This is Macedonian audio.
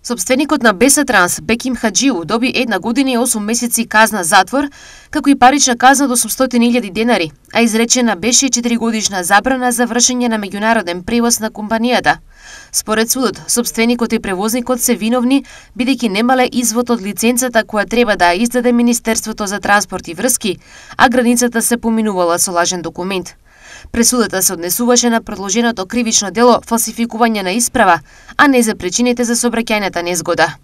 Собственикот на Беса Транс, Беким Хаджиу, доби 1 година и 8 месеци казна затвор, како и парична казна до 800.000 денари, а изречена беше 4-годишна забрана за вршење на меѓународен превоз на компанијата. Според судот, собственикот и превозникот се виновни бидејќи немале извод од лиценцата која треба да ја издаде Министерството за транспорт и врски, а границата се поминувала со лажен документ. Пресудата се однесуваше на продолженото кривично дело фалсификување на исправа, а не за причините за сообраќајната незгода.